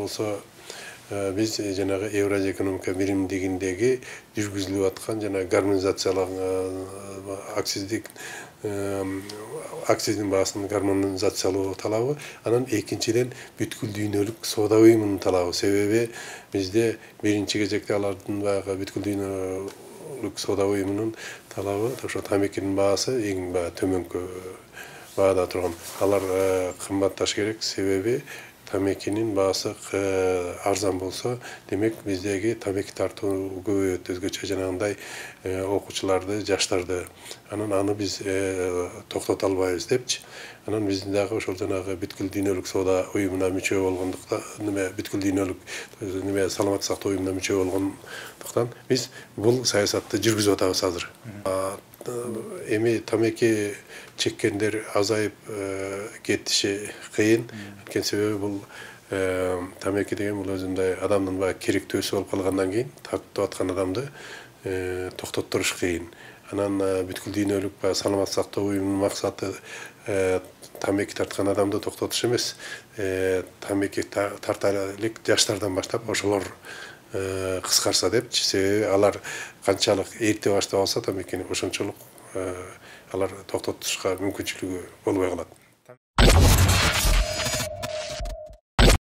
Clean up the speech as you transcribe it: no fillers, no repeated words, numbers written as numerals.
болсо биз жанагы Евразия экономика биримдигиндеги жүргүзүлүп аткан жана гармонизацияланган акциздин баасын гармонизациялоо талабы, анан экинчиден бүткүл дүйнөлүк соода уюмунун талабы. Себеби бизде биринчи кезекте алардын баягы бүткүл дүйнөлүк соода уюмунун талабы ошо тамекинин баасы эң төмөнкү баада турган. Алар кымбатташ керек, себеби тамекинин баасы арзан болсо, демек биздеги тамеки тартуу көбөйөт, өзгөчө жанагындай окуучуларды, жаштарды. Анан аны биз токтото албайбыз депчи. Анан биздин дагы ошол жанагы бүткүл дүйнөлүк соода уюмуна мүчө болгондуктан, бүткүл дүйнөлүк саламаттык сактоо уюмуна мүчө болгондуктан биз бул саясатты жүргүзүп атабыз азыр. Эми тамеки чеккендер азайып кетиши кыйын. Анткени себеби бул тамеки деген бул өзүндөй адамдын керектөөсү болуп калгандан кийин тартып аткан адамды токтотуруш кыйын. Анан бүткүл дүйнөлүк саламаттык сактоо уюмунун максаты тамеки тарткан адамды токтотуш эмес, тамеки тарта элек жаштардан баштап ошолор кыскарса депчи. Себеби алар канчалык эрте баштап алса тамекини, ошончолук алар токтотушка мүмкүнчүлүгү болбой калат.